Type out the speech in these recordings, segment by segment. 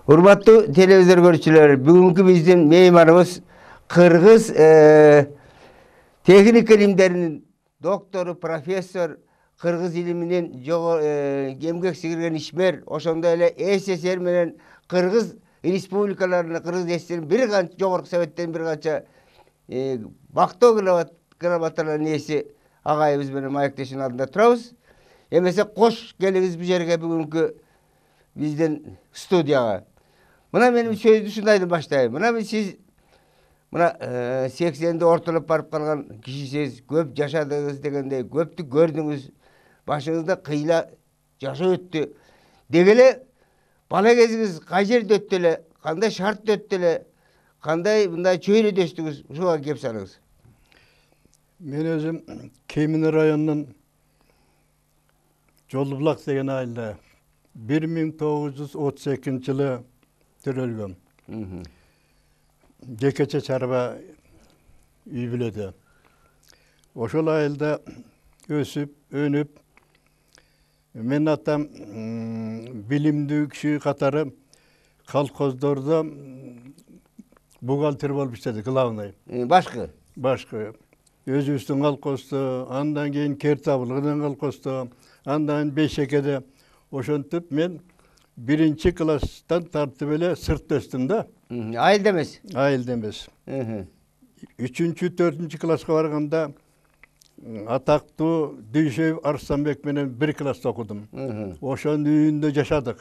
Урматтуу телевизор көрүүчүлөр, бүгүнкү биздин мейманыбыз кыргыз техника илимдеринин доктору, профессор, кыргыз илиминин эмгек сиңирген ишмер, ошондой эле СССР менен кыргыз республикаларына, кыргыз СССРдин бир канча жогорку советтен бир канча бактоо грамоталарынын ээси агайыбыз менен маектештин алдында турабыз. Эмесе кош келиңиз бул жерге бүгүнкү биздин студияга. Мына менин сөздү ушундайдан баштайм. Мына сиз 80'de ортолоп барып калган кишисиз, көп жашадыңыз дегендей, көптү көрдүңүз, башыңызда кыйла жашоо өттү. Деги эле бала кезиңиз кай жерде өттү эле, кандай шартта өттү эле, кандай мындай чөйрөдөштүңүз, ушуга кеп салыңыз. Мен өзүм Кемине районунун Жолдубулак деген айылда 1932-жылы төрөлгөм. Жекече чарба үй бүлөдө. Ошол айылда өсүп, өнүп, мен атам билимдүү киши катары колхоздордо бухгалтер болуп иштеди, главный. Башкы. Өзүбүздүн колхоздо, андан кийин Кертабылгынын колхоздо, андан Бейшекеде. Ошентип мен 1-класстан тартып эле сыртта өстүм да. Айылда эмес. Айылда эмес. 3-4 класска барганда атактуу Дүйшөев Арстанбек менен 1 класста окудум. Ошонун үйүндө жашадык.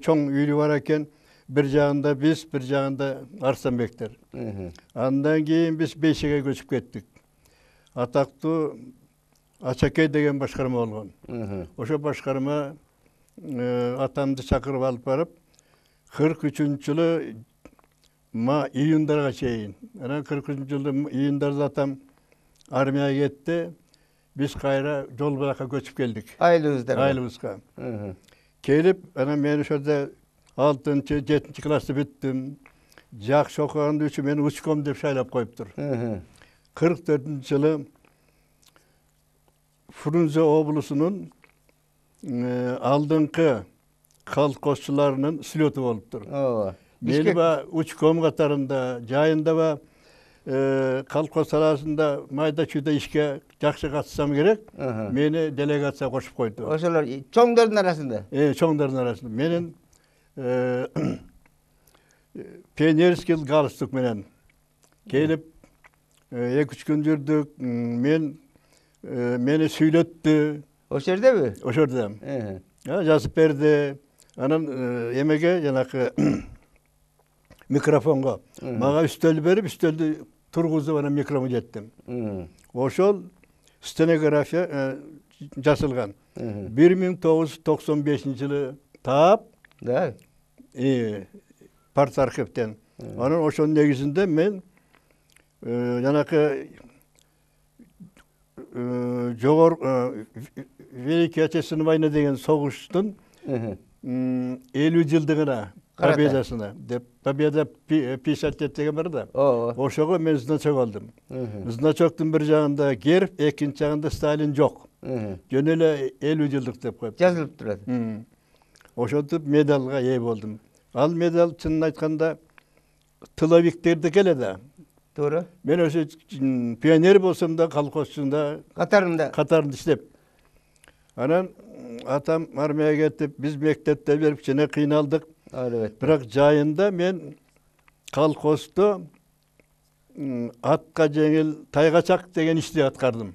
Чоң үйлү бар экен. Bir жагында биз, bir жагында Арстанбектер. Андан кийин биз Бейшекеге көчүп кеттик. Атактуу Ачакей деген башкарма болгон. Ошо башкарма атамды чакырып алып барып, 43-жылы июндарга чейин. Анан 43-жылы июндарда атам армияга кетти. Биз кайра Жолбулакка көчүп келдик. Айылыбызга. Келип, анан мен ошодо 6-7 классты бүттүм. Жакшы окуганды үчүн мени учком деп шайлап коюптур. 44-жылы Фрунзе облусунун алдыңкы колхозчуларынын слёту болуптур. Мени учком катарында, жайында ба колхоз саласында майда чүйдө ишке жакшы катышсам керек, мени делегация кошуп койду. Ошолор чоңдордун арасында? Чоңдордун арасында. Менин пионерский галстук менен келип 2-3 күн жүрдүк. Мени сүйлөттү. Ошол жердеби? Ошол жерде. Жазып берди. Анан эмеге жанакы микрофонго мага үстөл берип, үстөлдү тургузуп анан микрофон жеттим. Ошол стенография жазылган. 1995-жылы таап, партархивден. Анан ошонун негизинде мен жанакы Великий Отечественный война деген согуштун 50 жылдыгына, победасына деп, победа 50 лет деген бар да. Ошого мен значок алдым. Значоктун бир жагында герб, экинчи жагында Сталин жок. Жөн эле 50 жылдык деп коюп жазылып турат. Ошентип медалга ээ болдум. Ал медаль чынын айтканда тыловиктердики эле да. Туура. Мен ошо пионер болсом да, колхозчунда катарында иштеп. Анан атам армияга кетип, биз мектепте берип кичине кыйналдык. Бирок жайында мен колхоздо атка жеңил тайгачак деген ишти аткардым.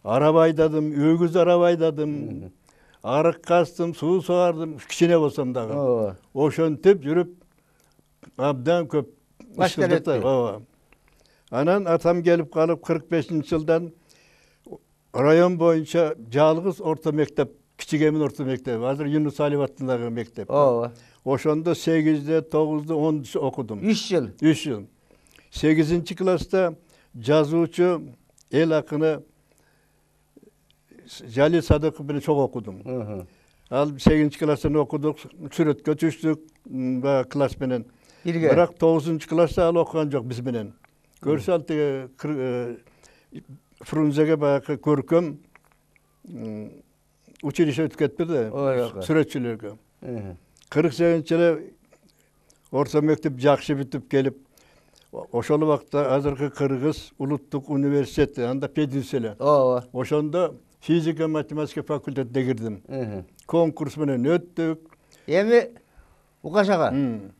Араба айдадым, өгүз араба айдадым, арык кастым, суу согардым, кичине болсом дагы. Ошентип жүрүп абдан көп башталып. Анан атам келип калып 45-жылдан район боюнча жалгыз орто мектеп, Кичигемин орто мектеби, азыр Юнус Алиев аттындагы мектеп. Ошондо 8-де, 9-да, 10-да окудум. 3 жыл. 3 жыл. 8-класста жазуучу эл акыны Жалил Садыков менен чогуу окудум. Ал 8-класстан окудук, сүрөткө түштүк класс менен. Бирок 9-класста ал окуган жок биз менен. Көрсө ал теге Фрунзеге баягы көркөм училище өтүп кетти да сүрөтчүлөргө. 48-жылы орто мектеп жакшы бүтүп келип, ошол убакта азыркы Кыргыз улуттук университети, анда пединс эле. Ошондо физика математика факультетине кирдим. Конкурс менен өттүк. Эми Укаш ага,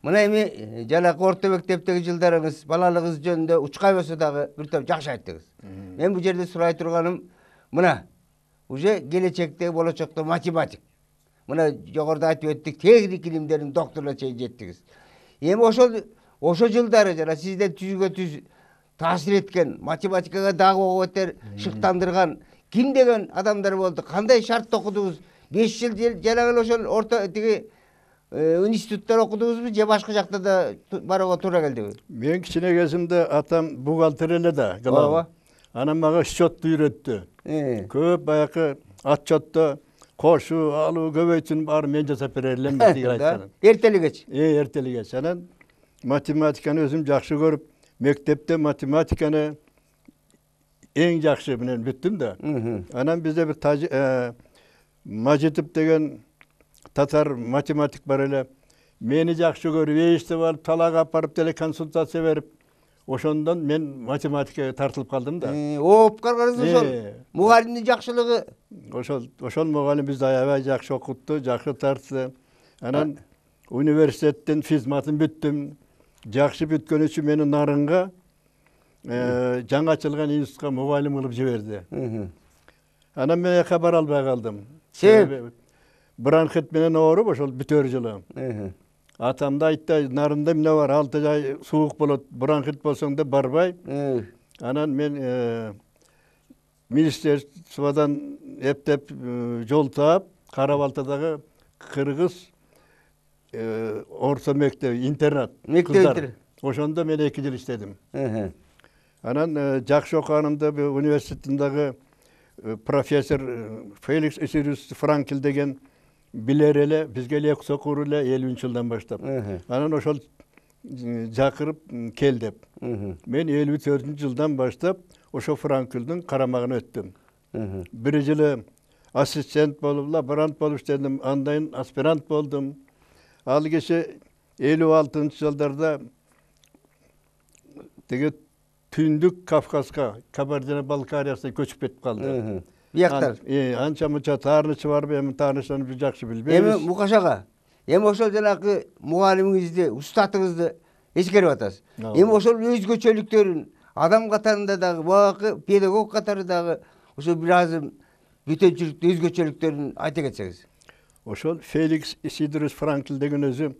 мына эми жанагы орто мектептеги жылдарыңыз, балалыгыңыз жөнүндө учкай болсо дагы бир топ жакшы айттыңыз. Мен бул жерде сурай турганым, мына уже келечекте болочокто математик. Мына жогоруда айтып өттүк, техник илимдердин докторуна чейин жеттиңиз. Эми ошол жылдары жана сизден түзгө-түз таасир эткен, математикага дагы ого бетер шыктандырган ким деген адамдар болду? Кандай шартта окудуңуз? 5 жыл жанагы ошол орто тиги институттар окудуңузбу же башка жакта да барууга туура келдиби? Мен кичине кезимде атам бухгалтер эле да, ооба. Анан мага счетту үйрөттү. Көп баягы отчетто кошуу, алуу, көбөйтүүнү баары мен жасап бере элем деген айткан. Эртелигечи. Эртелигечи. Анан математиканы өзүм жакшы көрүп, мектепте математиканы эң жакшы менен бүттүм да. Анан бизде бир Мажитов деген татар математик бар эле. Мени жакшы көрүп, эчтеп алып, талаага апарып деле консультация берип, ошондон мен математикага тартылып калдым да. Окуп калганыңыз ошол мугалимдин жакшылыгы. Ошол мугалим бизди аябай жакшы окутту, жакшы тартты. Анан университеттин физматын бүттүм. Жакшы бүткөн үчүн мени Нарынга жаңы ачылган институтка мугалим кылып жиберди. Анан мен аяка бара албай калдым. Себеп бронхит менен ооруп ошол бүтөр жылы. Атам да айтты, Нарында эмне бар, 6 ай суук болот, бронхит болсоң да барбай. Анан мен министерстводон эптеп жол таап, Кара-Балтадагы Кыргыз орто мектеп, интернат. Мектептер. Ошондо мен 2 жыл иштедим. Анан жакшы окуганымда университетиндагы профессор Феликс Исирус Франкл деген билер эле, бизге эле окур эле 50-жылдан баштап. Анан ошол жакырып кел деп. Мен 54-жылдан баштап ошо Франклдын карамагына өттүм. 1 жылы ассистент болуп, лаборант болуп иштедим, андан аспирант болдум. Ал киши 56-жылдарда теге Түндүк Кавказга, Кабардино-Балкариясына көчүп кетип калды. Бияктар. Анча мынча таарынычы барбы, эми таарынычын биз жакшы билбейбиз. Эми Мукаш ага, эми ошол жанагы мугалимиңизди, устатыңызды эскерип атасыз. Эми ошол өзгөчөлүктөрүн адам катарында дагы, багы педагог катары дагы ошо бир азым бүтөнчүлүктүү өзгөчөлүктөрүн айта кетсеңиз. Ошол Феликс Исидорус Франкл деген өзү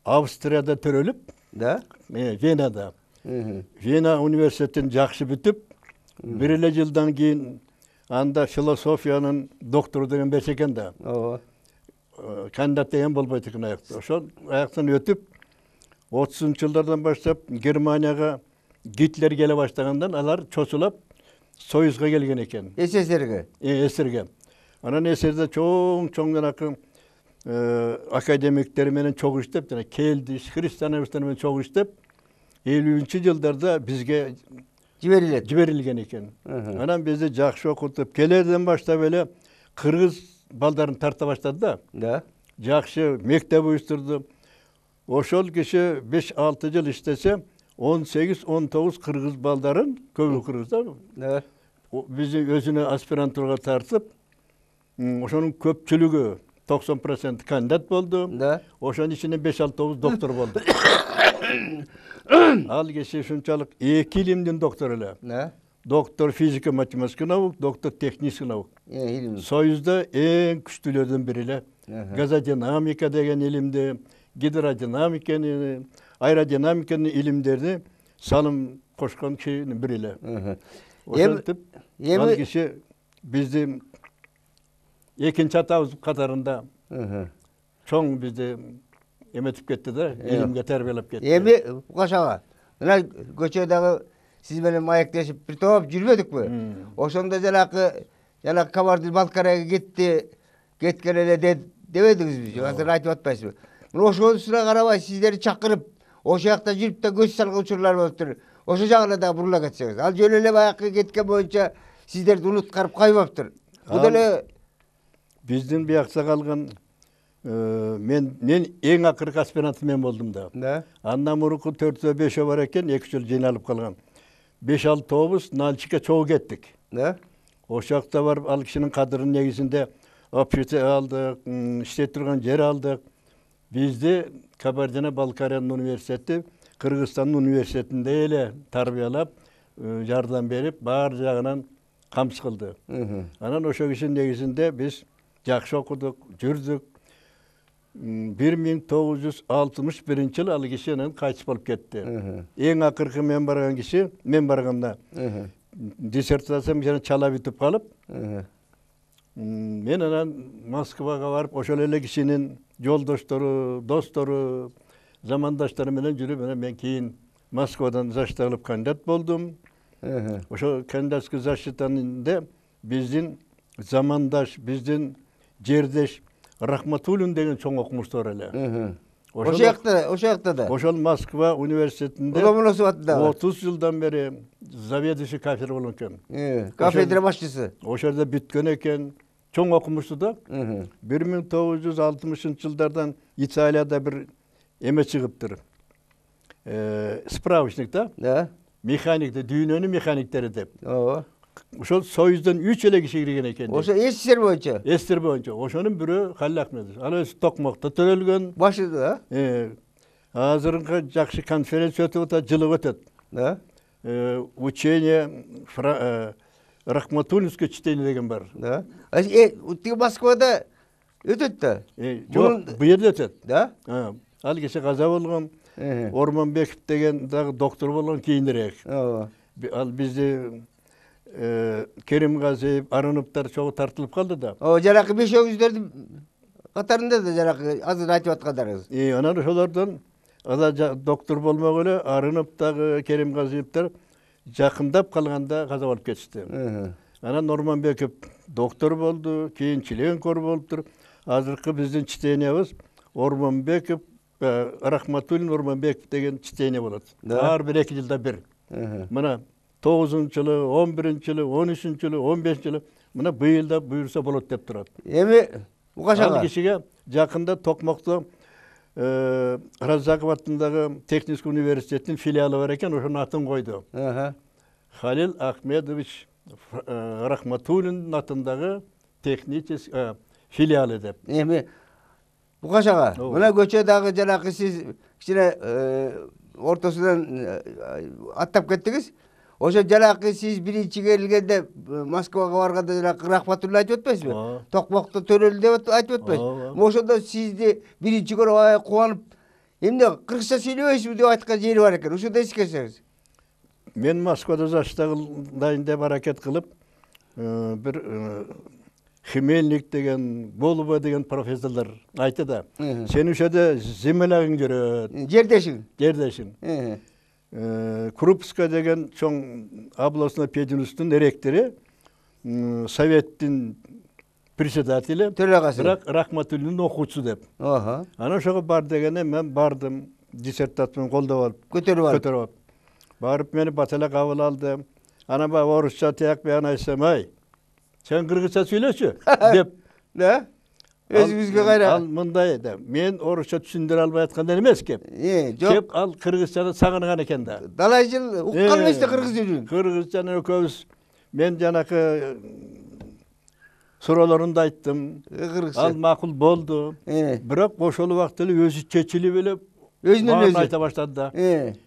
Австрияда төрөлүп, Венада. Вена университетин жакшы бүтүп, 1 эле жылдан кийин анда философиянын доктору деген берсе экен да. Кандидат деген болбойт экен аякта. Ошол аяктан өтүп, 30-жылдардан баштап Германияга Гитлер келе баштагандан алар чочулап Союзга келген экен. СССРге. СССРге. Анан СССРде чоң жанакы академиктер менен чогуу иштеп, жана келди, христиановичтер менен чогуу иштеп, 50-жылдарда бизге жиберилген экен. Анан бизди жакшы окутуп, келерден баштап эле кыргыз балдарын тарта баштады да. Жакшы мектеп уюштурду. Ошол киши 5-6 жыл иштесе, 18-19 кыргыз балдарын, көбү кыргыздар, бизди өзүнө аспирантурага тартып, ошонун көпчүлүгү 90% кандидат болду. Ошонун ичинен 5-6 доктор болду. Ал киши ушунчалык 2 илимдин доктору эле. Доктор физика математика наук, доктор технический наук. Союзда эң күчтүүлөрдүн бири эле. Газодинамика деген илимди, гидродинамиканы, аэродинамиканын илимдерди салым кошкон кишинин бири эле. Ошентип, ал киши бизди экинчи атабыз катарында чоң бизди эметип кетти да, илимге тарбиялап кетти. Эми Укаш ага, мына көчөдөгү сиз менен маектешип бир топ жүрбөдүкпү? Ошондо жанакы Кабардино-Балкарияга кеткен эле дебедиңизби? Азыр айтып атпайсызбы? Мына ошонусуна карабай сиздерди чакырып, ошол жакта жүрүп да көз салган учурлар болуптур. Ошол жагына да бурула кетсеңиз. Ал жөн эле баягы кеткен боюнча сиздерди унуткарып койбоптур. Бул деле биздин биякта калган мен эң акыркы аспирант мен болдум да. Андан мурунку 4-5 бар экен, 2 жыл жыйналып калган. 5-6 Нальчикке чогуу кеттик. Ошол жакта барып ал кишинин кадырынын негизинде общежитие алдык, иштеп турган жер алдык. Бизди Кабардино-Балкариянын университети Кыргызстандын университетинде эле тарбиялап, жардам берип, баар жагынан камсыз кылды. Анан ошол кишинин негизинде биз жакшы окудук, жүрдүк. 1961-жылы ал киши анан кайтыш болуп кетти. Эң акыркы мен барган киши, мен барганда диссертациям жана чала бүтүп калып, мен анан Москвага барып, ошол эле кишинин жолдоштору, достору, замандаштары менен жүрүп, мен кийин Москвадан защита кылып кандидат болдум. Ошо кандидатский защитанында биздин замандаш, биздин жердеш Рахматуллин деген чоң окумуштуу бар эле. Ошол жакта да. Ошол Москва университетинде 30 жылдан бери заведующий кафедра болгон экен. Кафедра башчысы. Ошол жерде бүткөн экен. Чоң окумуштуу да. 1960-жылдардан Италияда бир эме чыгыптыр. Справочник да. Механикте, дүйнөнүн механиктери деп. Ошол Союздон 3 эле киши кирген экен. Ошо СССР боюнча. СССР боюнча. Ошонун бирөө Халил Ахметов. Ал өзү Токмокто төрөлгөн. Башы да. Азыркы жакшы конференция өтүп атат, жылы өтөт. Учение Рахматуллинское чтение деген бар. Тиги Москвада өтөт да. Жок, бу жерде өтөт. Да? Ал киши каза болгон. Ормонбеков деген дагы доктор болгон кийинирээк. Ал бизди Керимгазиев, Арыновдор чогуу тартылып калды да. Жаракы бешөөңүздөрдүн катарында да жаракы азыр айтып аткандарыңыз. Анан ошолордон доктор болмок эле Арынов дагы, Керимгазиевдер жакындап калганда каза болуп кетишти. Анан Ормонбеков доктор болду, кийин членкор болуптур. Азыркы биздин чтениябыз Ормонбеков, Рахматуллин, Ормонбеков деген чтение болот. Ар бир 2 жылда бир. Мына 9-жылы, 11-жылы, 13-жылы, 15-жылы мына быйылда буйрса болот деп турат. Эми укашага ал кишиге жакында Токмокто Раззаков атындагы техникский университеттин филиалы бар экен, ошонун атын койду. Халил Ахмедович Рахматуллин атындагы технический филиалы деп. Эми укашага мына көчө дагы жанакы сиз кичине ортосунан аттап кеттиңиз. Ошо жанакы сиз биринчи келгенде Москвага барганда жанакы Рахматуллин айтып өтпөйсүзбү? Токмокто төрөлдү деп айтып өтпөйсүзбү? Ошондо сизди биринчи көрүп кубанып, эмне кыргызча сүйлөбөйсүзбү деп айткан жери бар экен. Ошондо эскерсеңиз. Мен Москвада защита кылайын деп аракет кылып, бир Хмельник деген, Голубов деген профессорлор айтты да. Сен ошода земелягың жүрөт. Жердешиң. Крупская деген чоң областной пединститутунун ректору, советтин председателі, бірақ Рахматуллиннин окуучусу деп. Анан ошого бар дегенде мен бардым, диссертацияны колдоп алып, көтөрүп алып. Барып мени баталак кабыл алды. Анан баягы орусча тияк баян айтсам, ай, сен кыргызча сүйлөчү деп. Да? Өзүңүзгө кайра. Ал мындай да, мен орусча түшүндүрө албай аткандан эмес кеп. Кеп ал кыргызчаны сагынган экен да. Далай жыл уккан эмес да кыргыз тілин. Кыргызчаны экөөбүз мен жанакы суроолорунду айттым. Ал макул болду. Бирок ошол убакта эле өзү чечилип эле өзүнөн өзү айта баштады да.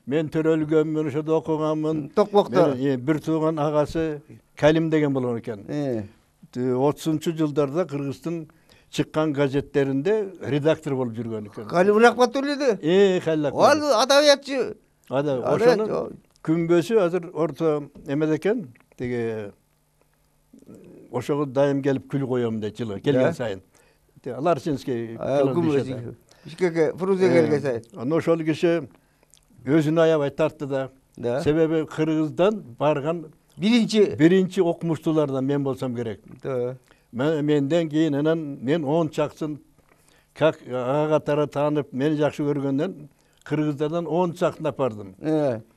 Мен төрөлгөнмүн, ошодо окуганмын. Токмокто. Бир тууган агасы Калим деген болгон экен. 30-жылдарда Кыргыздын чыккан газеттеринде редактор болуп жүргөн экен. Халил Рахматуллин. Халил. Ал адабиятчы. Ошонун күнбөсү азыр орто эмеде экен. Теге ошого дайым келип күл коём дейт жылы келген сайын. Ларсинский күнбөсү. Бишкекке Фрунзе келген сайын. Аны ошол киши өзүнө аябай тартты да. Себеби Кыргыздан барган биринчи окумуштуулардан мен болсом керек. Менден кийин анан мен 10 чаксын как ага катары таанып мени жакшы көргөндөн кыргыздардан 10 чаксын алып бардым.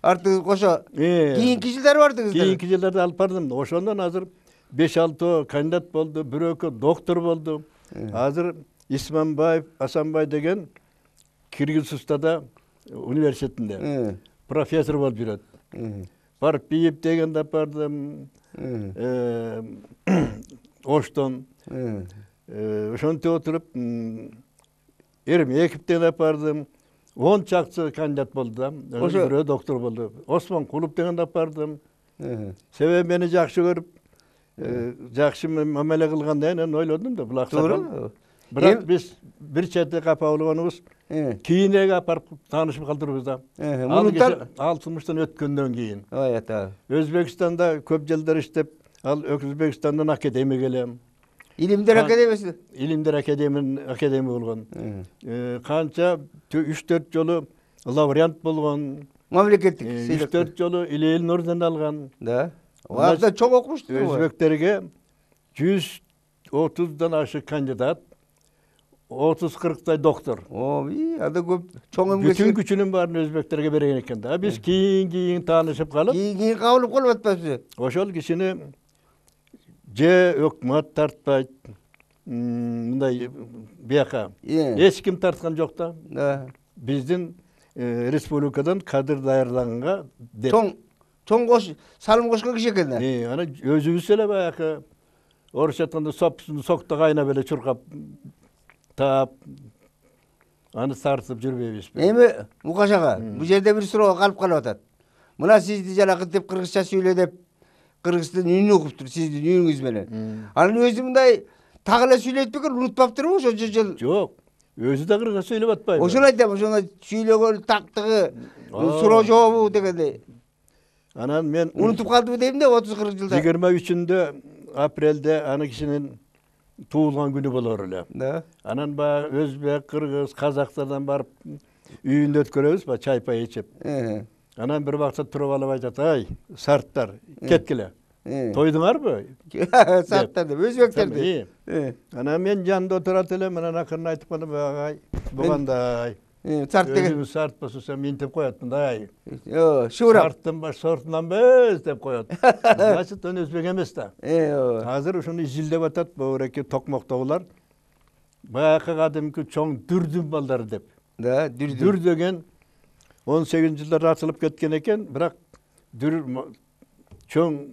Артыңыз кошо кийинки жылдары бардыңыз. Кийинки жылдарда алып бардым. Ошондон азыр 5-6 кандидат болду, бирөкө доктор болду. Азыр Исманбаев Асанбай деген Кыргызстанда университетинде профессор болуп жүрөт. Барып Биев дегенде апардым, Оштон. Ошентип отуруп, Эрмеков апардым. 10 чакчы кандидат болду да. Бирөө доктор болду. Осмон Кулуп дегенде апардым. Себеби мени жакшы көрүп, жакшы мамиле кылганда мен ойлодум да, бул аксакал. Бирок биз бир четте капа болгонубуз, кийинеге апарып таанышып калтырбыз да. Ал сунуштан өткөндөн кийин. Өзбекстанда көп жылдар иштеп, ал Өзбекстандан академик элем. Илимдер академиясы. Илимдер академия болгон. Канча 3-4 жолу лауреат болгон. Мамлекеттик. 3-4 жолу Илил орден алган. Да. Аларда чоң окумушту. Өзбектерге 130дан ашык кандидат, 30-40 доктор. Ада көп чоң эмгек. Бүтүн күчүнүн баарын өзбектерге берген экен да. Биз кийин таанышып калып. Кийин кабылып калып атпайбыз. Ошол кишини же өкмөт тартпайт, мындай бияка. Эч ким тарткан жок да. Биздин республикадан кадр даярданганга деп. Чоң салым кошкон киши экен да. Ана өзүбүз эле баягы орусча айтканда сокто кайнап эле чуркап таап аны тартып жүрбөйбүзбү? Эми Мукаш ага, бул жерде бир суроо калып атат. Мына сизди жанагы деп кыргызча сүйлө деп кыргыздын үнүн угуптур, сиздин үнүңүз менен. Анын өзү мындай так эле сүйлөйт бекер, унутпаптырбы ошо жыл? Жок. Өзү да кыргызча сүйлөп атпайбы? Ошону айтам, ошону сүйлөгөн тактыгы, суроо жообу дегендей. Анан мен унутуп калдыбы дейм да 30-40 жылда. 23 апрелде аны кишинин туулган күнү болор эле. Да. Анан баягы өзбек, кыргыз, казактардан барып үйүндө өткөрөбүз ба, чай-пай ичип. Анан бир вакытта туруп алып айтат: "Ай, сарттар, кеткиле. Тойдуңарбы?" Сарттар деп, өзбектерди. Анан мен жанында отурат элем, анан акырын айтып калдым: "Агай, бугандай. Сарт деген өзүңүз сарт болсо сен минтип коет мындай. Шуурап. Сарттын баш сортунан без деп коет. Значит, өзбек эмес да. Азыр ушуну изилдеп атат бөбүрөккө токмоктогулар. Баягы кадимки чоң дүрдүн балдары деп. Да, дүр деген 18-жылдарда ачылып кеткен экен, бирок дүр чоң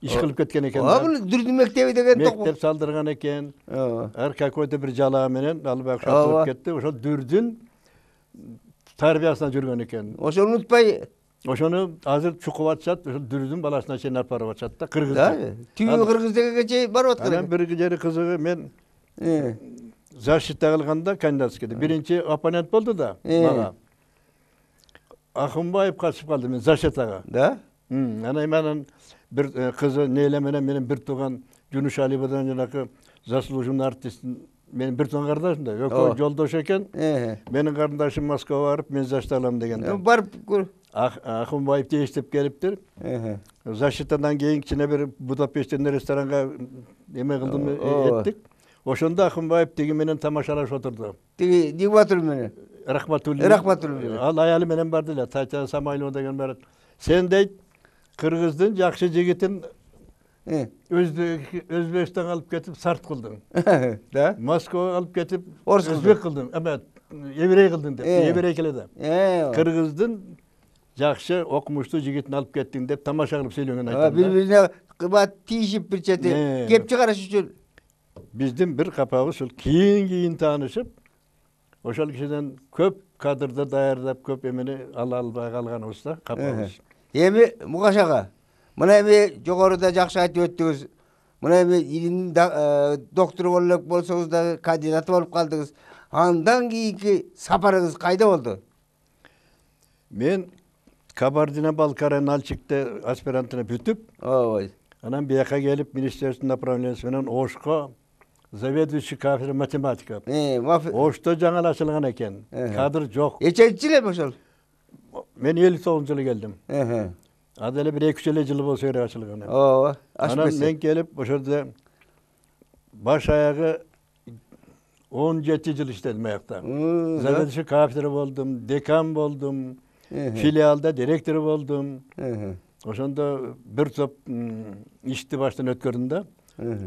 иш кылып кеткен экен. Бул дүрдүн мектеби деген мектеп салдырган экен. Ар какой-то бир жалаа менен ал баягы ачылып кетти. Ошо дүрдүн тарбиясына жүргөн экен. Ошону унутпай, ошону азыр чукуп атышат, ошо дүрдүн баласына чейин алып барып атышат да, кыргыз. Түбү кыргыз дегенге чейин барып аткан. Анан бир жери кызыгы, мен защита кылганда кандидатскийде биринчи оппонент болду да мага. Акынбаев катышып калды мен защитага. Да? Анан бир кызы Нейле менен бир тууган Жунушалиевадан жанагы заслуженный артист менин бир тууган кардашым да, экөө жолдош экен. Менин карындашым Москвага барып, мен защита алам дегенде. Барып көр. Акынбаев тештеп келиптир. Защитадан кийин кичине бир Будапешттен ресторанга эме кылдым, эттик. Ошондо Акынбаев тиги менен тамашалашып отурду. Тиги Дигбатул менен. Рахматуллин. Ал аялы менен барды эле, Татьяна Самойлова деген бар. Сен дейт, кыргыздын жакшы жигитин Өзбекстанга алып кетип сарт кылдың. Да? Москвага алып кетип өзбек кылдың. Эме, еврей кылдың деп. Еврей келеде. Кыргыздын жакшы окумуштуу жигитин алып кеттиң деп тамаша кылып сүйлөгөн айтам. Бири-бирине кымбат тийишип бир чети кеп чыгарыш үчүн. Биздин бир капабыз ушул кийин таанышып, ошол кишиден көп кадрды даярдап, көп эмени ала албай калганыбыз да, капабыз. Эми Мукаш ага, мына эми жогоруда жакшы айтып өттүңүз. Мына эми илимдин доктору болуп болсоңуз да кандидаты болуп калдыңыз. Андан кийинки сапарыңыз кайда болду? Мен Кабардино-Балкария Нальчикте аспирантына бүтүп, анан бияка келип министерство направлениясы менен Ошко заведующий кафедра математика. Ошто жаңы ачылган экен. Кадр жок. Эченчи жыл эми ошол? Мен 59-жылы келдим. Ада эле бир 2 жыл жылы болсо керек ачылган. Анан мен келип ошолда баш аягы 17 жыл иштедим аякта. Заведующий кафедра болдум, декан болдум, филиалда директор болдум. Ошондо бир топ ишти баштан өткөрдүм да.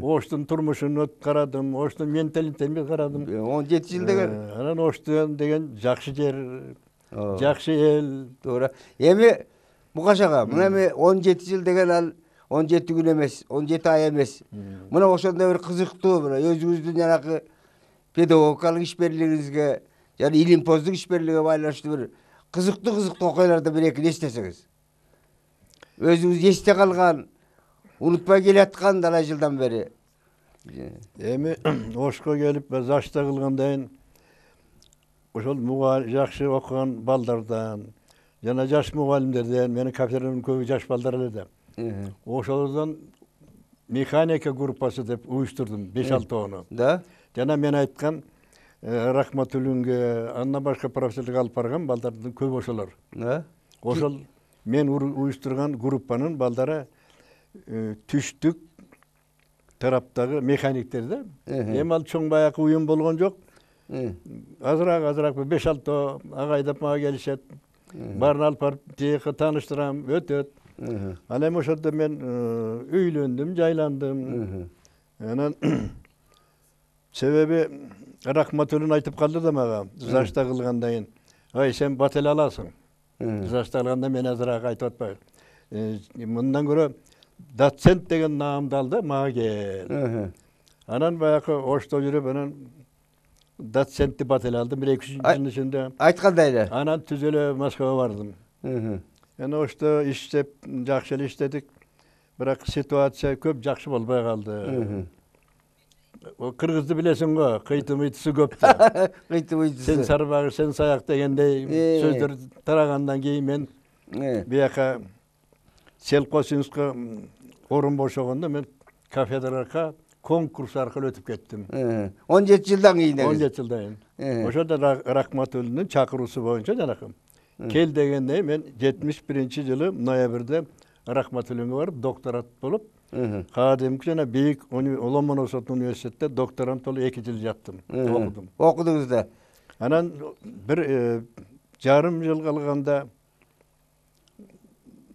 Оштун турмушун карадым, Оштун менталитетин карадым. 17 жыл деген. Анан Оштун деген жакшы жер, жакшы эл. Туура. Эми Мукаш ага, мына эми 17 жыл деген ал 17 күн эмес, 17 ай эмес. Мына ошондой бир кызыктуу, мына өзүңүздүн жанагы педагогикалык ишмерлигиңизге, жана илимпоздук ишмерлигине байланыштуу бир кызыктуу окуяларды бир экини эстесеңиз. Өзүңүз эсте калган, унутпай келаткан талай жылдан бери. Эми Ошко келип зашта кылгандан ошол жакшы окуган балдардан жана жаш мугалимдерден, менин кафедрамдын көбү жаш балдар эле да. Ошолордон механика группасы деп уюштурдум 5-6 Да. Жана мен айткан Рахматуллинге, андан башка профессорлук алып барган балдардын көбү ошолор. Да. Ошол мен уюштурган группанын балдары түштүк тараптагы механиктер да. Эми ал чоң баягы уюм болгон жок. Азыраак 5-6 агайдап мага келишет. Барын алып барып тияка тааныштырам, өтөт. Ал эми ошондо мен үйлөндүм, жайландым. Анан себеби Рахматуллин айтып калды да мага, зашта кылгандан кийин, "Ай, сен бат эле аласың." Зашта кылганда мен азыраак айтып атпайбы. Мындан көрө доцент деген наамды ал да мага кел. Анан баягы Ошто жүрүп, анан доцентти бат эле алдым 1-2 жылдын ичинде. Айткандай эле. Анан түз эле Москвага бардым. Эми Ошто иштеп, жакшы эле иштедик. Бирок ситуация көп жакшы болбой калды. Кыргызды билесиң го, кыйты-мыйтысы көп да. Кыйты-мыйтысы. Сен сарбагы, сен саяк дегендей сөздөр тарагандан кийин мен бияка Селкосинскка орун бошогондо мен кафедрага конкурс аркылуу өтүп кеттим. 17 жылдан кийин. 17 жылдан кийин. Ошондо Рахматуллиндин чакыруусу боюнча жанакы. Кел дегенде мен 71-жылы ноябрда Рахматуллинге барып докторат болуп, кадимки жана бийик Ломоносов университетте докторант болуп 2 жыл жаттым, окудум. Окудуңуз да. Анан бир жарым жыл калганда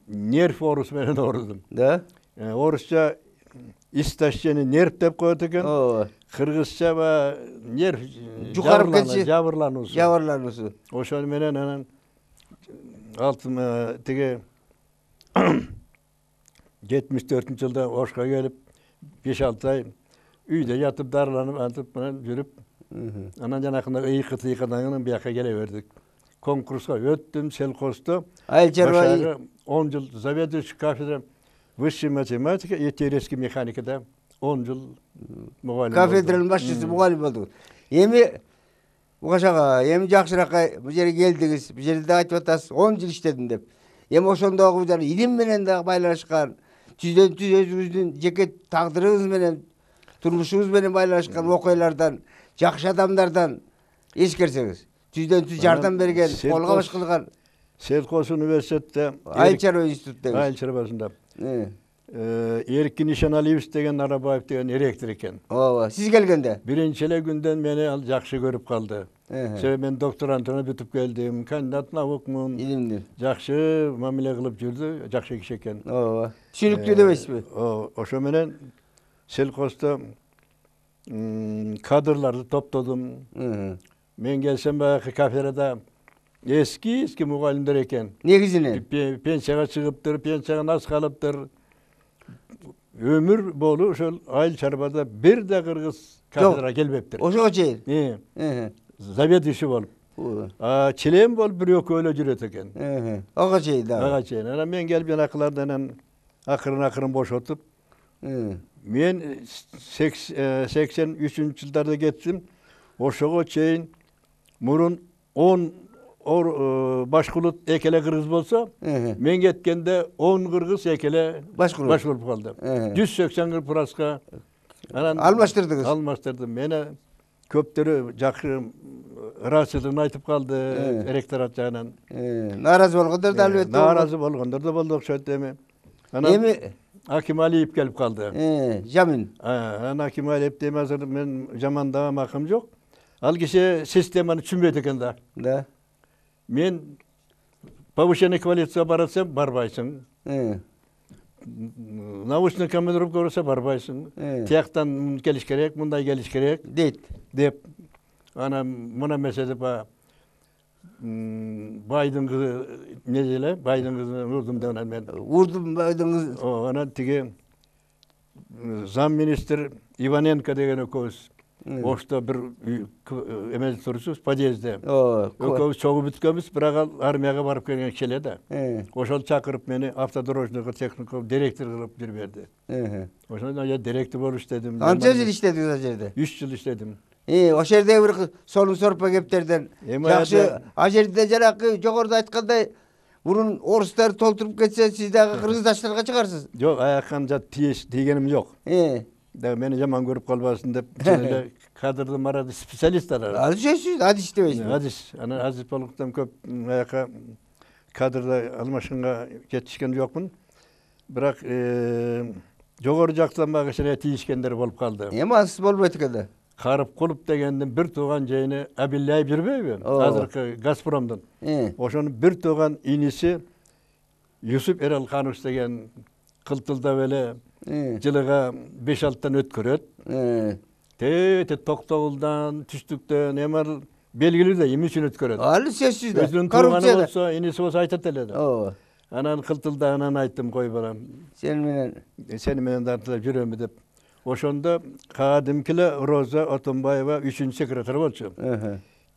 нерв оорусу менен оорудум. Да. Орусча истощение нерв деп коет экен. Кыргызча нерв жукарып кетчи. Жабырлануусу. Ошол менен анан тиги 74-жылда Ошко келип 5-6 ай үйдө ятып дарыланып антып менен жүрүп, анан жанакында ыйкы-тыйкыдан бияка келе бердик. Конкурска өттүм, селхоздо. Айыл чарба 10 жыл заведующий кафедра высшей математики и теоретической механикада 10 жыл мугалим. Кафедранын башчысы мугалим болдуңуз. Эми Мукаш ага, эми жакшыраак бу жерге келдиңиз. Бу жерде айтып атасыз, 10 жыл иштедим деп. Эми ошондогу илим менен дагы байланышкан, түздөн-түз өзүңүздүн жеке тагдырыңыз менен, турмушуңуз менен байланышкан окуялардан, жакшы адамдардан эскерсеңиз, түздөн-түз жардам берген, колго баш кылган. Селкос университетте, Айыл чарба институтта. Айыл чарбасында. Эркин Ишаналиевич деген Арабаев деген ректор экен. Ооба, сиз келгенде. Биринчи эле күндөн мени ал жакшы көрүп калды. Себеби мен докторантура бүтүп келдим, кандидат наукмун. Илимдин. Жакшы мамиле кылып жүрдү, жакшы киши экен. Ооба. Түшүнүктүү дебейсизби? Ошо менен селхоздо кадрларды топтодум. Мен келсем баягы кафедрада эски мугалимдер экен. Негизинен пенсияга чыгыптыр, пенсиядан аз калыптыр. Өмүр болу ошол айыл чарбада бир да кыргыз кафедрага келбептир. Ошого чейин. Заведующий болуп. Член болуп бир-экөө эле жүрөт экен. Ага чейин да. Ага чейин. Анан мен келип жанакылардан акырын бошотуп, мен 83-жылдарда кеттим. Ошого чейин мурун 10 башкулут экеле кыргыз болсо, мен кеткенде 10 кыргыз экеле башкулут калды. 180%га анан алмаштырдыңыз. Алмаштырдым. Мени көптөрү жакшы ыраазычылыгын айтып калды ректорат жагынан. Нааразы болгондор да албетте. Нааразы болгондор да болду окшойт эми. Анан Аким Алиев келип калды. Жамин. Анан Аким Алиев дем азыр мен жамандаган акым жок. Ал киши системаны түшүнбөйт экен да. Да. Мен повышение квалификацияга барасам, барбайсың. научный командировка болсо барбайсың. Тияктан келиш керек, мындай келиш керек дейт деп. Ана мына меседе байдын кызы не деле, байдын кызын урдум деп мен. Урдум байдын кызы. Анан тиги зам министр Иваненко деген экөөбүз ошто бир эмеде турчубуз, подъездде. Экөөбүз чогуу бүткөнбүз, бирок ал армияга барып келген киши эле да. Ошол чакырып мени автодорожныйга техникум директор кылып жүрбөдү. Ошондо я директор болуп иштедим. Канча жыл иштедиңиз ал жерде? 3 жыл иштедим. Ошол жердеги бир сонун сорпа кептерден жакшы. Ал жерде жанакы жогоруда айткандай мурун орустар толтуруп кетсе, сиз дагы кыргыздаштарга чыгарсыз. Жок, аяктан тийгеним жок. Да мени жаман көрүп калбасын деп, эле кадрдын марады специалисттер. Ал сөзсүз адис иштебейсиз. Адис. Анан адис болгондон көп аяка кадрда алмашканга жетишкен жокмун. Бирок жогору жактан мага кичине тийишкендер болуп калды. Эми ансыз болбойт экен да. Карыпкулов дегендин бир тууган жыйыны Абилляев жүрбөйбү? Азыркы Газпромдун. Ошонун бир тууган иниси Юсуп Эралханович деген кылтылдап эле жылыга 5-6 өткөрөт. Тете Токтогулдан, Түштүктөн эми белгилүү да эмне үчүн өткөрөт. Ал сөзсүз да. Өзүнүн тууганы болсо, иниси болсо айтат эле да. Анан кылтылдаганан айттым, кой балам. Сени менен дартылап жүрөмү деп. Ошондо кадимкиле Роза Отунбаева 3-секретарь болчу.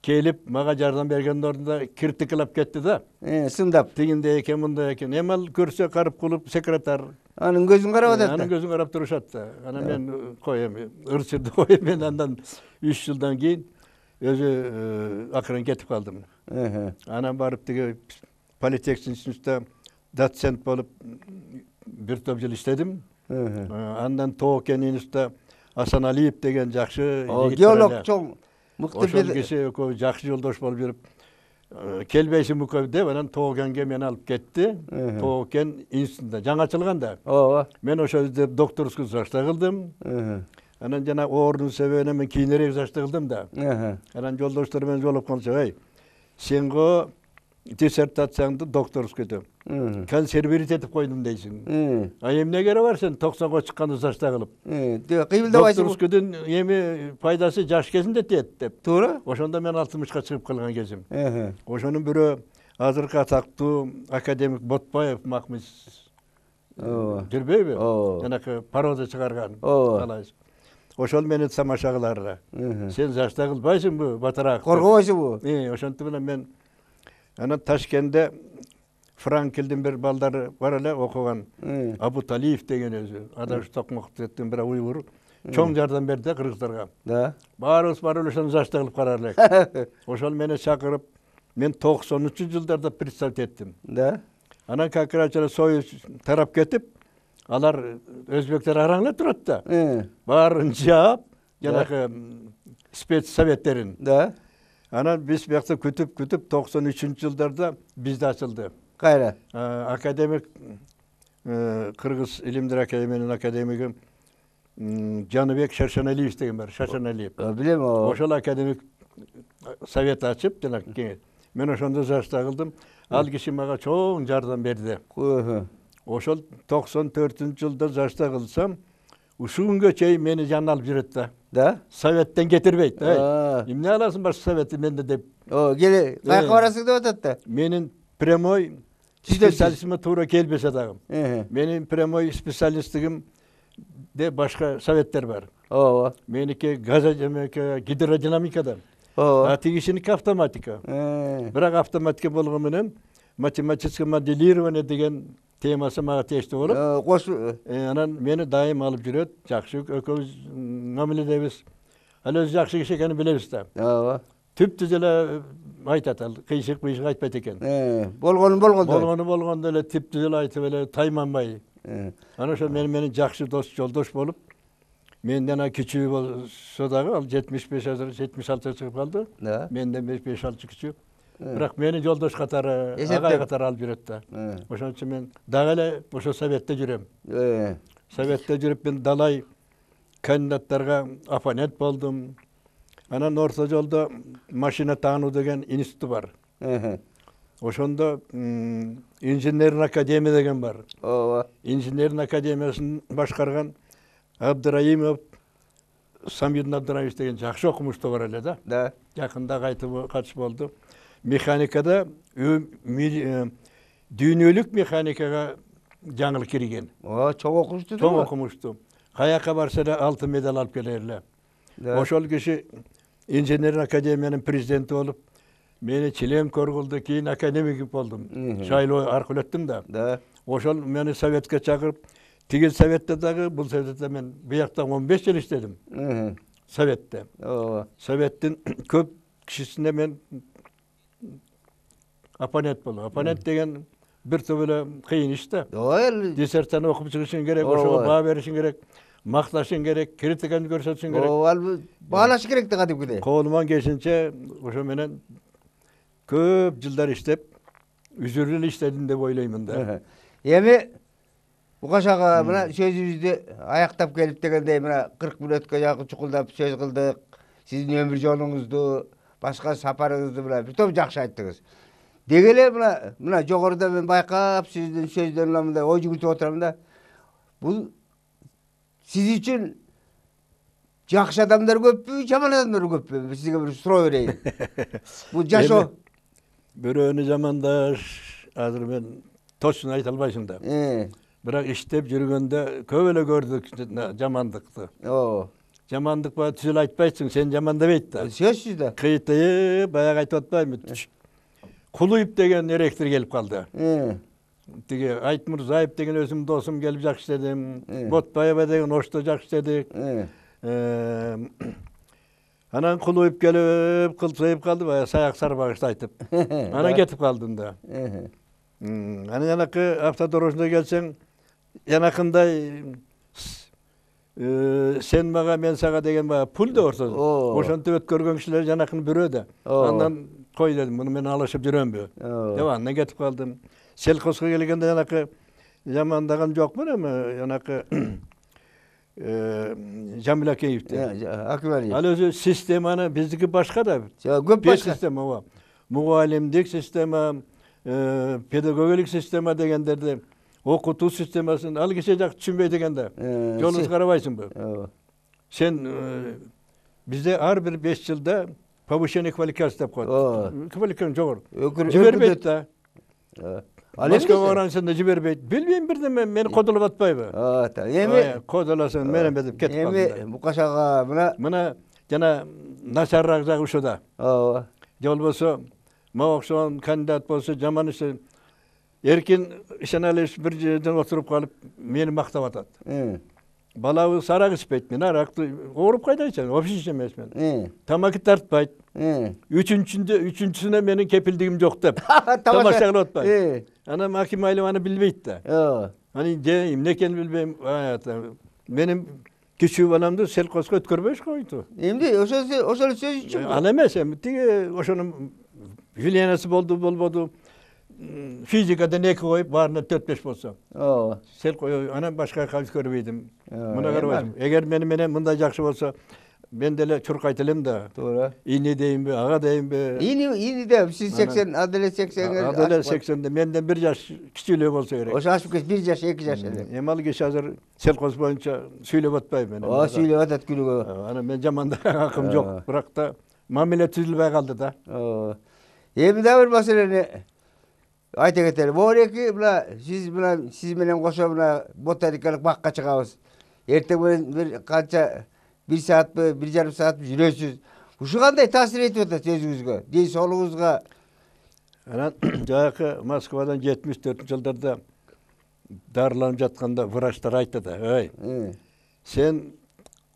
Келип мага жардам бергендин ордунда критикалап кетти да. Сындап. Тигинде экен, мындай экен. Эми ал көрсө Карыпкулов секретарь. Анын көзүн карап атат. Анын көзүн карап турушат да. Анан мен кой эми ырчырды кой, мен андан 3 жылдан кийин өзү акырын кетип калдым. Анан барып тиги политехник институтта доцент болуп бир топ жыл иштедим. Андан Тоокен институтта Асаналиев деген жакшы геолог чоң мыкты киши экөө жакшы жолдош болуп жүрүп, келбейсиң мукөй деп, анан Тоокенге мени алып кетти. Тоокен институтунда жаңы ачылган да. Мен ошол жерде докторскую зачет кылдым. Анан жана оорунун себебине мен кийинирээк зачет кылдым да. Анан жолдоштор менен жолугуп калчу, эй, сен го диссертацияңды докторскую деп консервировать этип койдум дейсиң. А эмне кереги бар сен 90го чыкканды зачет кылып? Кыймылдабайсың. Докторскуйдун эми пайдасы жаш кезинде тиет деп. Туура. Ошондо мен 60ка чыгып калган кезим. Ошонун бирөө азыркы атактуу академик Ботбаев Махмуд жүрбөйбү? Жанакы парода чыгарган. Ошол мени тамаша кылар. Сен зачет кылбайсыңбы, батыраак? Коргобойсуңбу? Ошентип менен мен анан Ташкентте Франкелдин бир балдары бар эле окуган, Абуталиев деген өзү, адаш токмоктун бир уйгур, чоң жардам берди кыргыздарга. Да. Баарыбыз барып ошону зачет кылып карар элек. Ошол мени чакырып, мен 93-жылдарда представить эттим. Да. Анан как раз Союз тарап кетип, алар өзбектер араңла турат да. Баарын жаап, жанакы спецсоветтерин. Да. Анан биз биякта күтүп 93-жылдарда бизде ачылды. Кайра? Академик Кыргыз илимдер академиянын академиги Жаныбек Шашаналиев деген бар, Шашаналиев. Билем, ошол академик совет ачып, жана кеңет. Мен ошондо зачет кылдым. Ал киши мага чоң жардам берди. Ошол 94-жылда зачет кылсам, ушул күнгө чейин мени жанына алып жүрөт да. Да? Советтен кетирбейт. Эмне аласың баш советти менде деп. Келе, каяка барасың деп атат да. Менин прямой специалистиме туура келбесе дагы. Менин прямой специалисттигим де башка советтер бар. Меники гидродинамикадан. А тигишиники автоматика. Бирок автоматика болгону менен математическое моделирование деген темасы мага тиештүү болуп. Анан мени дайым алып жүрөт. Жакшы экөөбүз мамиледебиз. Ал өзү жакшы киши экенин билебиз да. Түптүз эле айтат, ал кыйшык айтпайт экен. Болгону эле түптүз эле айтып эле тайманбай. Анан ошо мени жакшы дос, жолдош болуп, менден кичүү болсо дагы, ал 75 азыр 76 чыгып калды. Менден 5-6 кичүү. Бирок мени жолдош катары, агай катары алып жүрөт да. Ошон үчүн мен дагы эле ошо советте жүрөм. Советте жүрүп мен далай кандидаттарга оппонент болдум. Анан орто жолдо машина таануу деген институт бар. ошондо инженерный академия деген бар. ооба. Инженерный академиясын башкарган Абдыраимов Самидин Абдыраимович деген жакшы окумуштуу бар эле да. Да. Жакында кайтып катыш болду. Механикада дүйнөлүк механикага жаңыл кирген. Чоң окумуштуу. Чоң окумуштуу. Каяка барса да алтын медаль алып келер эле. Ошол киши инженерный академиянын президенти болуп, мени член коргулду, кийин академик болдум. Шайлоо аркылуу өттүм да. Да. Ошол мени советке чакырып, тигил советте дагы, бул советте мен буякта 15 жыл иштедим. Советте. Ооба. Советтин көп кишисине мен оппонент болдум. Оппонент деген бир топ эле кыйын иш да. Ооба. Диссертацияны окуп чыгышың керек, ошого баа беришиң керек, макташың керек, критиканы көрсөтүшүң керек. Ооба, баалаш керек да кадимкидей. Колуман келишинче ошо менен көп жылдар иштеп, үзүрүл эле иштедим деп ойлоймун да. Эми Бугашага мына сөзүбүздү аяктап келип дегендей мына 40 мүнөткө жакын чукулдап сөз кылдык. Сиздин өмүр жолуңузду, башка сапарыңызды мына бир топ жакшы айттыңыз. Деги эле мына жогоруда мен байкап сиздин сөздөрүнөн мындай ой жүгүртүп отурам да. Бул сиз үчүн жакшы адамдар көппү, жаман адамдар көппү? Сизге бир суроо берейин. Бул жашоо. Бирөөнү жамандаш азыр мен точно айта албайсың да. Бирок иштеп жүргөндө көп эле көрдүк жамандыкты. Ооба. Жамандык ба түзүл айтпайсың, сен жамандабайт да. Сөзсүз да. Кыйты баягы айтып атпаймынбы? Кулуев деген эректир келип калды. Тиги Айтмурзаев деген өзүмдүн досум келип жакшы иштедим. Ботбаева деген Ошто жакшы иштедик. Анан Кулуев келип кылсайып калды, баягы саяк сарбагышты айтып. Анан кетип калдым да. Анан жанакы автодорожный келсең, жанакындай сен мага, мен сага деген баягы пул да ортосу. Ошентип өткөргөн кишилер жанакын бирөө да. Андан кой дедим, муну мен алышып жүрөмбү деп андан кетип калдым. Селхозго келгенде жанакы жамандаган жокмун, эми жанакы Жамил Акеевди. Ал өзү системаны биздики башка да. Көп башка система бар. Мугалимдик система, педагогик система дегендерди, окутуу системасын ал киши жак түшүнбөй дегенде. Жолуңду карабайсыңбы? Сен бизде ар бир 5 жылда повышение квалификации деп коет. Квалификация жогору. Жибербейт да. Москвага барганда жибербейт. Билбейм бирдеме, мени кодолоп атпайбы? Эми кодолосун менен деп кетип калдым. Эми Букашага мына жана начарраак жагы ушуда. Ооба. Же болбосо мага окшогон кандидат болсо, жаман иши эркин ишеналиш бир жерден отуруп калып мени мактап атат. Балабыз арак ичпейт, мен аракты ооруп кайда ичем, вообще ичемесмин. Тамаки тартпайт. Үчүнчүсүнө менин кепилдигим жок деп. Тамаша кылып атпайт. Анан Аким Айлов аны билбейт да. Аны эмне экенин билбейм. Менин кичүү баламды селхозго өткөрбөйш койду. Эмне ошол сөз үчүн? Ал эмес, эми тиги ошонун Вильянасы болбоду. Физикадан 2 коюп, баарына 4-5 болсо. Анан башка калыс көрбөйдүм. Мына карабайсың. Эгер мени менен мындай жакшы болсо, мен деле чуркайт элем да. Туура. Ини дейинби, ага дейинби? Ини деп, сиз 80, аделе 80. Аделе 80, менден 1 жаш кичүүлөк болсо керек. Ошо ашып кетти, 1 жаш, 2 жаш эле. Эми ал киши азыр селхоз боюнча сүйлөп атпайбы мен. Сүйлөп атат күнүгө. Анан мен жамандаган акым жок, бирок да мамиле түзүлбөй калды да. Эми да бир маселени айта кетели. Боореки сиз менен кошо ботаникалык бакка чыгабыз. Эртең менен бир канча 1 саатпы, 1,5 саат жүрөсүз. Ушу кандай таасир этип атат өзүңүзгө, ден соолугуңузга? Анан жакы Москвадан 74-жылдарда дарыланып жатканда врачтар айтты да, "Ой, сен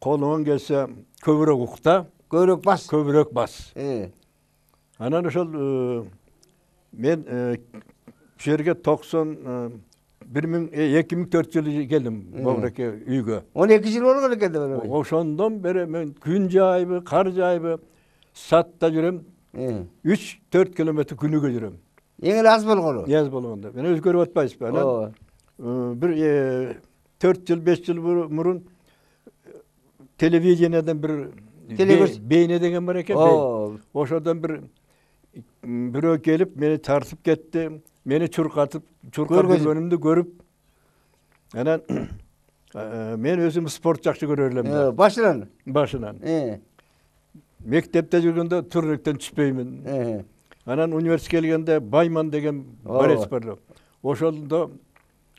колуңан келсе көбүрөөк укта, көбүрөөк бас." Анан ошол мен ушул жерге 2004-жылы келдим Бобуреке үйгө. 12 жыл болгон экен да. Ошондон бери мен күн жаайбы, кар жаайбы, сатта жүрөм. 3-4 километр күнүгө жүрөм. Эң эле аз болгону. Аз болгондо. Мен өзгөрүп атпайсызбы? Анан бир 4 жыл, 5 жыл мурун телевиденияден бир бейне деген бар экен. Ошодон бир бирөө келип мени тартып кетти, мени чуркап жүргөнүмдү көрүп, анан мен өзүм спорт жакшы көрөр элем да. Башынан. Мектепте жүргөндө турниктен түшпөймүн. Анан университетке келгенде Байман деген борец бар. Ошондо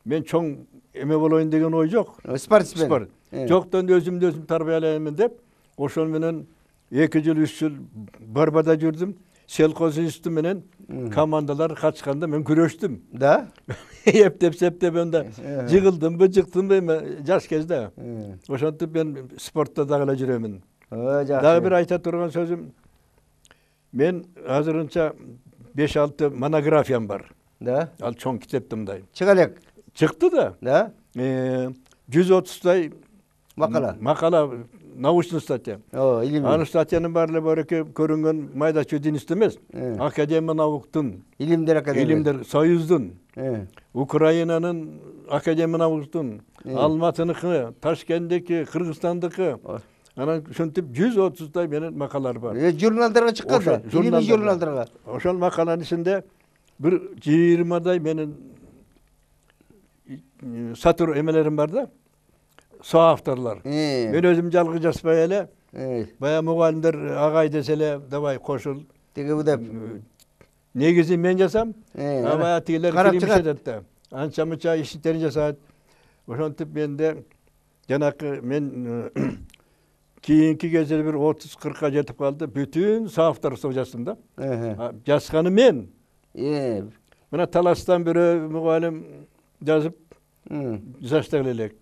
мен чоң эме болоюн деген ой жок. Спортсмен. Жоктон өзүмдү өзүм тарбиялаймын деп, ошол менен 2 жыл 3 жыл Барбада жүрдүм. Селкоз институту менен командалар катышканда мен күрөштүм. Да? Эптеп онда жыгылдымбы, жыктымбы жаш кезде. Ошентип мен спортто дагы эле жүрөмүн. Дагы бир айта турган сөзүм, мен азырынча 5-6 монографиям бар. Да? Ал чоң китепте мындай. Чыга элек. Чыкты да. Да? 130тай макала, научный статья. Илимдүү. Анын статьянын баары бареке көрүнгөн майда чөдүнүстө эмес. Академия науктун, Илимдер академия. Илимдер Союздун, Украинанын Академия науктун, Алматыныкы, Ташкенттеки, Кыргызстандыкы. Анан ушинтип 130тай менен макалалар бар. Журналдарга чыккан да. Илимий журналдарга. Ошол макаланын ичинде бир 20дай менин сатыр эмелерим бар да. Соавторлор. Мен өзүм жалгыз жазбай эле, бая мугалимдер агай десе эле, давай кошул. Тиги деп. Негизи мен жасам, бая тигилер киримишет да. Анча-мынча иштерин жасайт. Ошентип менде жанакы мен кийинки кезде бир 30-40ка жетип калды. Бүтүн соавторство жаздым да. Жазганы мен. Мына Таластан бирөө мугалим жазып жаздык элек.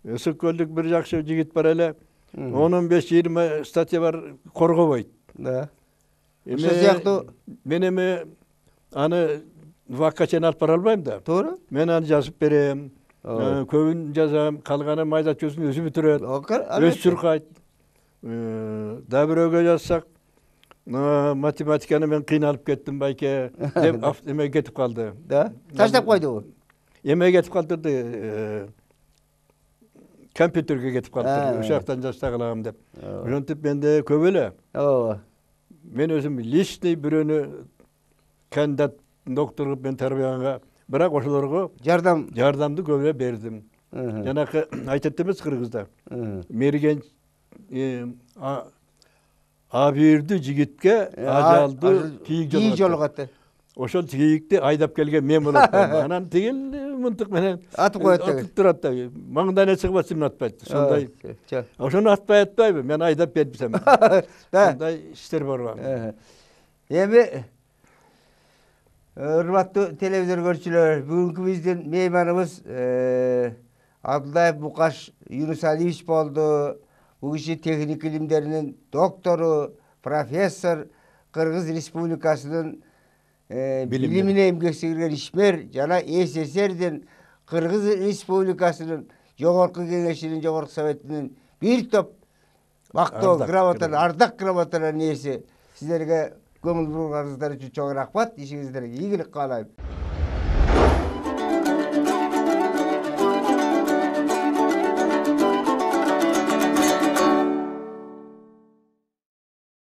Ысык көлдүк бир жакшы жигит бар эле. 15-20 статья бар, коргобойт. Да. Ошол сыяктуу мен эми аны вакка чейин алып бара албайм да. Туура. Мен аны жазып берем. Көбүн жазам, калганы майда чөзүн өзү бүтүрөт. Өз чуркайт. Да бирөөгө жазсак, математиканы мен кыйналып кеттим байке деп эме кетип калды. Да? Таштап койду. Эме кетип калдырды. Компьютерге кетип калды. Ошол жактан жазсак алам деп. Ошентип менде көп эле. Мен өзүм личный бирөөнү кандидат доктор кылып мен тарбияганга, бирок ошолорго жардамды көп эле бердим. Жанакы айтат эмес кыргызда. Мерген абийирдүү жигитке ажалды кийик жолугат. Ошол кийикти айдап келген мен болот. Анан тигил мынтык менен атып коет деген. Атып турат да. Маңдайына чыгып атсам атпайт. Сондай. Ошону атпайбы? Мен айдап берсем. Сондай иштер бар. Эми урматтуу телевизор көрүүчүлөр, бүгүнкү биздин мейманыбыз Абдуллаев Букаш Юнус Алиевич болду. Бул киши техник илимдеринин доктору, профессор, Кыргыз Республикасынын билимине эмгек сиңирген ишмер жана СССРдин Кыргыз Республикасынын жогорку кеңешинин жогорку советинин бир топ мактоо грамоталар, ардак грамоталарынын ээси. Сиздерге көңүл бурганыңыздар үчүн чоң рахмат. Ишиңиздерге ийгилик каалайм.